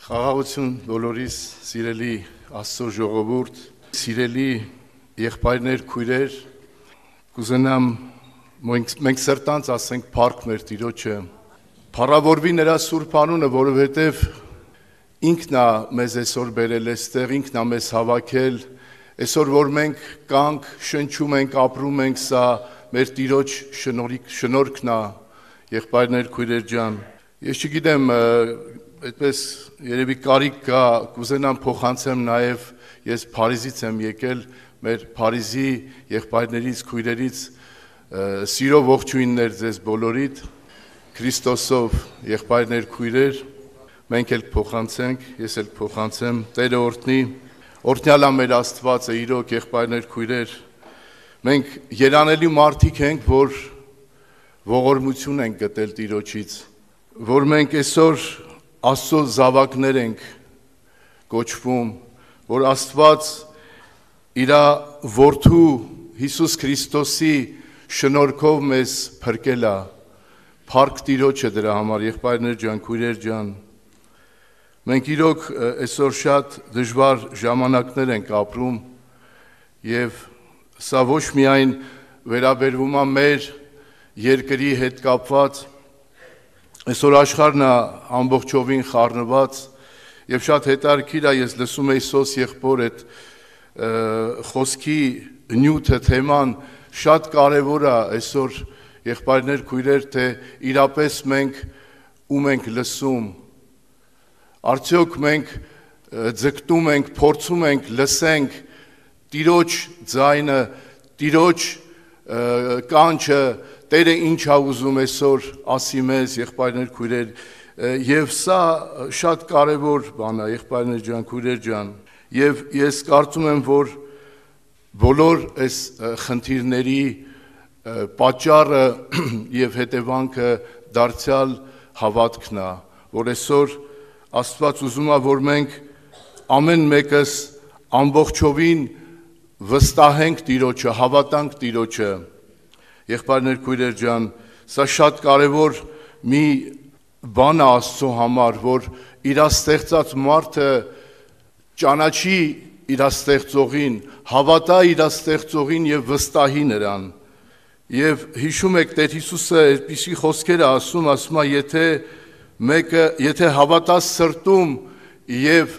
Խաղաղություն բոլորիս, սիրելի Աստծո ժողովուրդ, սիրելի եղբայրներ, քույրեր, կուզենամ մենք սրտանց ասենք փառք մեր Տիրոջը, փառավորվի նրա սուրբ անունը, որովհետև ինքն է մեզ այսօր բերել այստեղ, ինքն է մեզ հավաքել, այսօր որ մենք կանք, շնչում ենք, ապրում ենք, սա մեր Տիրոջ շնորհքն է, եղբայրներ, քույրեր ջան, ես չգիտեմ, այդպես երևի կարիք կա, կուզենամ փոխանցեմ նաև ես Փարիզից եմ եկել, մեր Փարիզի եղբայրներից, քույրերից սիրով ողջույններ ձեզ բոլորիդ, Քրիստոսով եղբայրներ, քույրեր, մենք էլ փոխանցենք, ես էլ փոխանցեմ, Տերը օրհնի, օրհնյալ է մեր Աստվածը, իրոք եղբայրներ, քույրեր, մենք երանելի մարդիկ ենք, որ ողորմություն ենք գտել Տիրոջից, որ մենք այսօր Աստծո զավակներ ենք կոչվում, որ Աստված իր որդու Հիսուս Քրիստոսի շնորհքով մեզ փրկել է, փառք Տիրոջը դրա համար, եղբայրներ ջան, քույրեր ջան, մենք իրոք այսօր շատ դժվար ժամանակներ ենք ապրում եւ սա ոչ միայն վերաբերվում է մեր երկրի հետ կապված, այսօր աշխարհն է ամբողջովին խառնված եւ շատ հետաքրքիր է, ես լսում էի Սոս եղբոր այդ խոսքի նյութը, թեման շատ կարեւոր է այսօր եղբայրներ, քույրեր, թե իրապես մենք ում ենք լսում, արդյոք մենք ձգտում ենք, փորձում ենք, լսենք Տիրոջ ձայնը, Տիրոջ կանչը, Տերը ինչ է ուզում այսօր ասի մեզ, եղբայրներ, քույրեր, եւ սա շատ կարեւոր բան է, եղբայրներ ջան, քույրեր ջան, եւ ես կարծում եմ, որ բոլոր այս խնդիրների պատճառը եւ հետևանքը դարձյալ հավատքն է, որ այսօր Աստված ուզում է, որ մենք ամեն մեկս ամբողջովին վստահենք Տիրոջը, հավատանք Տիրոջը, եղբայրներ, քույրեր ջան, սա շատ կարևոր մի բան է Աստծո համար, որ իր ստեղծած մարդը ճանաչի իր ստեղծողին, հավատա իր ստեղծողին եւ վստահի նրան։ Եվ հիշում եք Տեր Հիսուսը այդպիսի խոսքեր է ասում, ասում է, եթե հավատաս սրտում եւ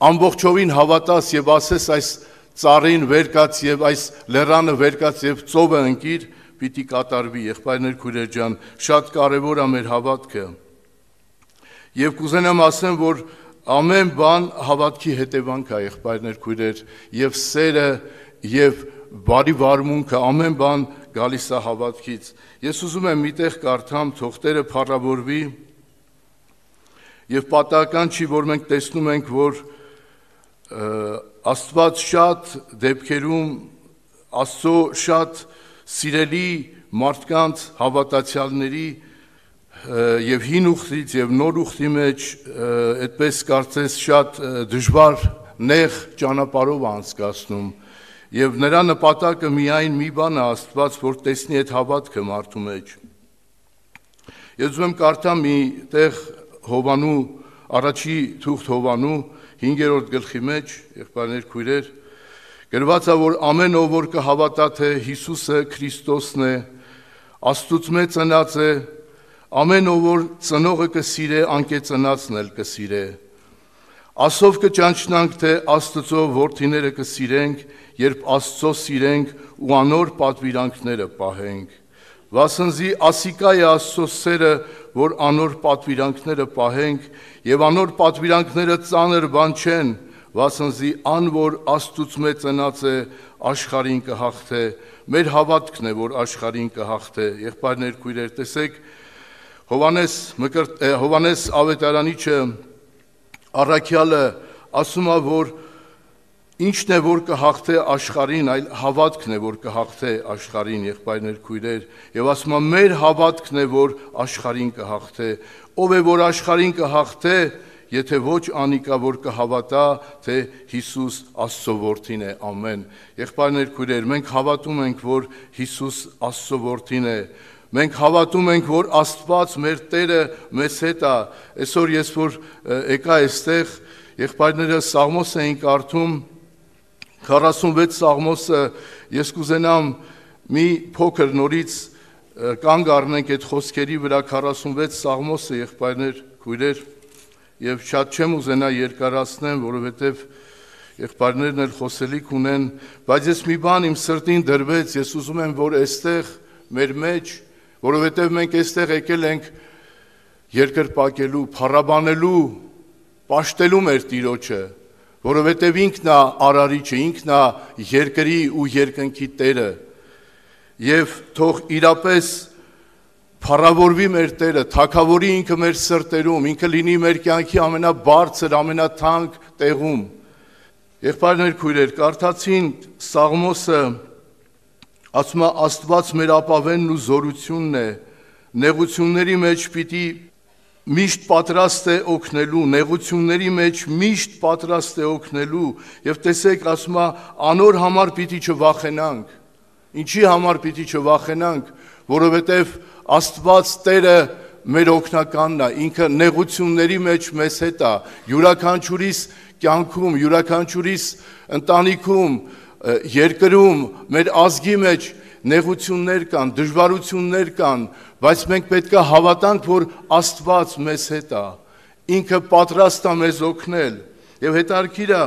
ամբողջովին հավատաս եւ ասես այս ծառին վերկաց եւ այս լեռանը վերկաց եւ ծովը ընկիր, պիտի կատարվի, եղբայրներ, քույրեր ջան, շատ կարեւոր է մեր հավատքը։ Եվ կուզենամ ասեմ, որ ամեն բան հավատքի հետևանք է, եղբայրներ, քույրեր, եւ սերը եւ բարի վարմունքը, ամեն բան գալիս է հավատքից։ Ես ուզում եմ միտեղ կարդամ, թող Տերը փառավորվի, եւ պատահական չի, որ մենք տեսնում ենք, որ Աստված շատ դեպքերում Աստծո շատ սիրելի մարդկանց հավատացյալների եւ հին ուխտից եւ նոր ուխտի մեջ այդպես կարծես շատ դժվար նեղ ճանապարհով անցկացնում եւ նրա նպատակը միայն մի բան է Աստված, որ տեսնի այդ հավատքը մարդու մեջ։ Ես ուզում եմ կարդամ մի տեղ Հովանու առաջի թուղթ Հովանու 5-րդ գլխի մեջ, եղբայրներ, քույրեր, գրված է, որ ամեն ով որ կհավատա, թե Հիսուսը Քրիստոսն է, Աստծուց ծնած է, ամեն ով որ ծնողը կսիրե, անկեծնածն էլ կսիրե։ Ասով կճանչնանք, թե Աստծո որդիները կսիրենք, երբ Աստծո սիրենք ու անոր պատվիրանքները պահենք։ Վասնզի ասիկա է Աստծո սերը, որ անոր պատվիրանքները պահենք, եւ անոր պատվիրանքները ծանր բան չեն, վասնզի ան որ Աստծուց ծնած է, աշխարհին կհաղթե, մեր հավատքն է, որ աշխարհին կհաղթե։ Եղբայրներ, քույրեր, տեսեք, Հովանես Ավետարանիչը առաքյալը ասում է, որ ինչն է, որ կհաղթե աշխարհին, այլ հավատքն է, որ կհաղթե աշխարհին, եղբայրներ, քույրեր, եւ ասում է, մեր հավատքն է, որ աշխարհին կհաղթե, ով է, որ աշխարհին կհաղթե, եթե ոչ անիկա, որ կհավատա, թե Հիսուս Աստծո որդին է, ամեն։ Եղբայրներ, քույրեր, մենք հավատում ենք, որ Հիսուս Աստծո որդին է, Մենք հավատում ենք, որ Աստված մեր Տերը մեզ հետ է։ Այսօր ես որ եկա այստեղ, եղբայրները Սաղմոս էին կարդում, 46 Սաղմոսը, ես կուզենամ մի փոքր նորից կանգ առնենք այդ խոսքերի վրա 46 Սաղմոսը, եղբայրներ, քույրեր, եւ շատ չեմ ուզենա երկարացնեմ, որովհետեւ եղբայրներն էլ խոսելիք ունեն, բայց ես մի բան իմ սրտին դրվեց, ես ուզում եմ, որ այստեղ մեր մեջ, որովհետև մենք այստեղ եկել ենք երկրպագելու, փառաբանելու, պաշտելու մեր Տիրոջը, որովհետև ինքն է արարիչը, ինքն է երկրի ու երկնքի Տերը, եւ թող իրապես փառավորվի մեր Տերը, թագավորի ինքը մեր սրտերում, ինքը լինի մեր կյանքի ամենաբարձր, ամենաթանկ տեղում։ Եղբայրներ, քույրեր, կարդացին Սաղմոսը, ասում է Աստված մեր ապավենն ու զորությունն է, նեղությունների մեջ պիտի միշտ պատրաստ է օգնելու, նեղությունների մեջ միշտ պատրաստ է օգնելու, եւ տեսեք, ասում է անոր համար պիտի չվախենանք։ Ինչի համար պիտի չվախենանք, որովհետեւ Աստված Տերը մեր օգնականն է, ինքը նեղությունների մեջ մեզ հետ է, յուրաքանչյուրիս կյանքում, յուրաքանչյուրիս ընտանիքում, երկրում, մեր ազգի մեջ նեղություններ կան, դժվարություններ կան, բայց մենք պետք է հավատանք, որ Աստված մեզ հետ է, ինքը պատրաստ է մեզ օգնել, եւ հետարքիր է,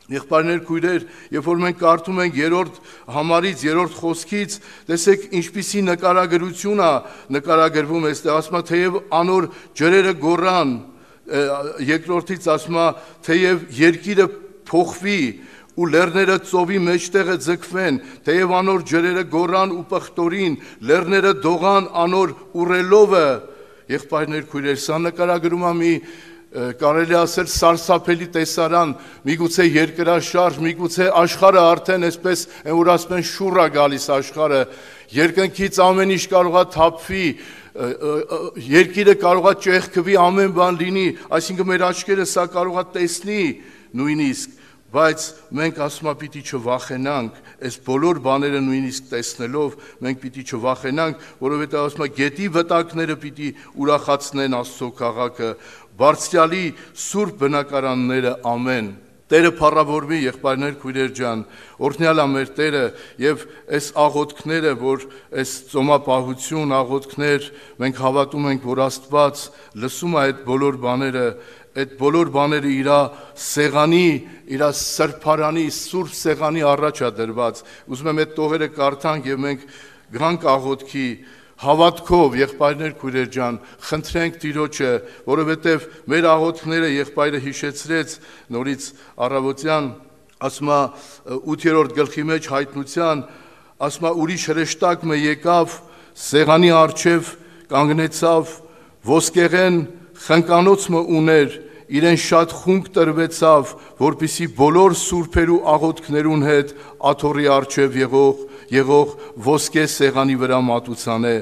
եղբայրներ, քույրեր, երբ որ մենք կարդում ենք 3-րդ համարից, 3-րդ խոսքից, տեսեք ինչպիսի նկարագրություն է նկարագրվում այստեղ, ասում է թեև անոր ջրերը գոռան, երկրորդից ասում է թեև երկիրը փոխվի ու լեռները ծովի մեջտեղը ձգվեն, թեև անոր ջրերը գոռան ու պղտորին, լեռները դողան անոր ուռելովը, եղբայրներ, քույրեր, սա նկարագրում է մի կարելի ասել սարսափելի տեսարան, միգուցե երկրաշարժ, միգուցե աշխարհը արդեն այսպես են որ ասում են շուռ է գալիս աշխարհը, երկնքից ամեն ինչ կարող է թափվի, երկիրը կարող է ճեղքվի, ամեն բան լինի, այսինքն մեր աչքերը սա կարող է տեսնի նույնիսկ, բայց մենք ասում ենք պիտի չվախենանք, այս բոլոր բաները նույնիսկ տեսնելով մենք պիտի չվախենանք, որովհետև ասում ենք գետի վտակները պիտի ուրախացնեն Աստծո քաղաքը, Բարձրյալի սուրբ բնակարանները, ամեն։ Տերը փառավորվի, եղբայրներ, քույրեր ջան, օրհնյալ է մեր Տերը եւ այս աղոթքները, որ այս ծոմապահություն աղոթքներ, մենք հավատում ենք, որ Աստված լսում է այդ բոլոր բաները իր սեղանի, իր սրբարանի, սուրբ սեղանի առաջ է դրված։ Ուզում եմ այդ տողերը կարդանք եւ մենք գանք աղոթքի հավատքով, եղբայրներ, քույրեր ջան, խնդրենք Տիրոջը, որովհետև մեր աղոթքները եղբայրը հիշեցրեց նորից առավոտյան, ասում է 8-րդ գլխի մեջ հայտնության, ասում է ուրիշ հրեշտակ մը եկավ, սեղանի առջև կանգնեցավ, ոսկեղեն խնկանոց մը ուներ, իրեն շատ խունկ տրվեցավ, որպիսի բոլոր սուրբերու աղոթքներուն հետ աթոռի առջև եղող ոսկե սեղանի վրա մատուցանե,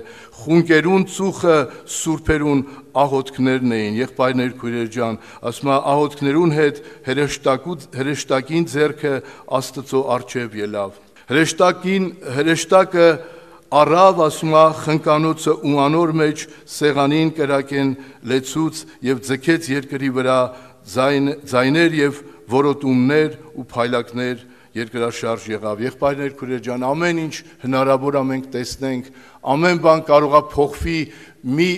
խունկերուն ծուխը սուրբերուն աղոթքներն էին, եղբայրներ, քույրեր ջան, ասում է աղոթքներուն հետ հրեշտակին ձեռքը Աստծո առջև ելավ, հրեշտակը առավ, ասում է խնկանոցը ու անոր մեջ սեղանին կրակեն լեցուց եւ ձգեց երկրի վրա ձայներ եւ որոտումներ ու փայլակներ երկրաշարժ եղավ։ Եղբայրներ, քույրեր ջան, ամեն ինչ հնարավոր է մենք տեսնենք, ամեն բան կարող է փոխվի մի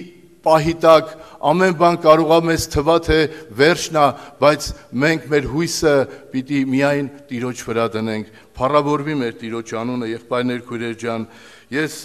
պահի տակ, ամեն բան կարող է մեզ թվա թե վերջն է, բայց մենք մեր հույսը պիտի միայն Տիրոջ վրա դնենք։ Փառավորվի մեր Տիրոջ անունը, եղբայրներ, քույրեր ջան, ես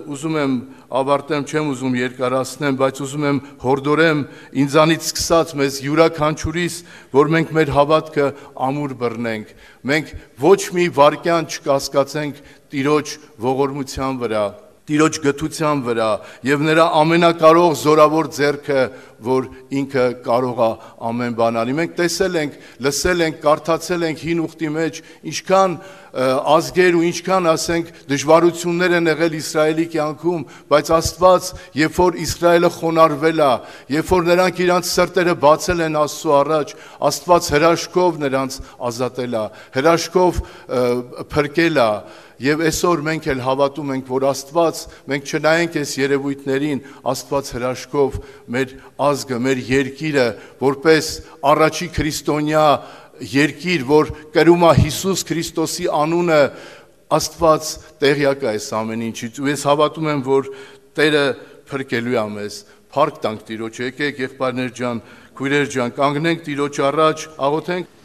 ուզում եմ ավարտեմ, չեմ ուզում երկարացնեմ, բայց ուզում եմ հորդորեմ ինձանից սկսած մեզ յուրաքանչյուրիս, որ մենք մեր հավատքը ամուր բռնենք, մենք ոչ մի վայրկյան չկասկածենք Տիրոջ ողորմության վրա, Տիրոջ գթության վրա եւ նրա ամենակարող զորավոր ձեռքը որ ինքը կարող է ամեն բան անի։ Մենք տեսել ենք, լսել ենք, կարդացել ենք հին ուխտի մեջ, ինչքան ազգեր ու ինչքան, ասենք, դժվարություններ են եղել Իսրայելի կյանքում, բայց Աստված, երբ որ Իսրայելը խոնարհվել է, երբ որ նրանք իրանց սրտերը բացել են Աստծո առաջ, Աստված հրաշքով նրանց ազատել է, հրաշքով փրկել է։ Եվ այսօր մենք էլ հավատում ենք, որ Աստված, մենք չնայենք այս երևույթներին, Աստված հրաշքով մեր ազգը, մեր երկիրը, որպես առաջի քրիստոնյա երկիր, որ կրում է Հիսուս Քրիստոսի անունը, Աստված տեղյակ է այս ամեն ինչից, ու ես հավատում եմ, որ Տերը փրկելու է մեզ։ Փառք տանք Տիրոջը, եկեք եղբայրներ ջան, քույրեր ջան, կանգնենք Տիրոջ առաջ, աղոթենք։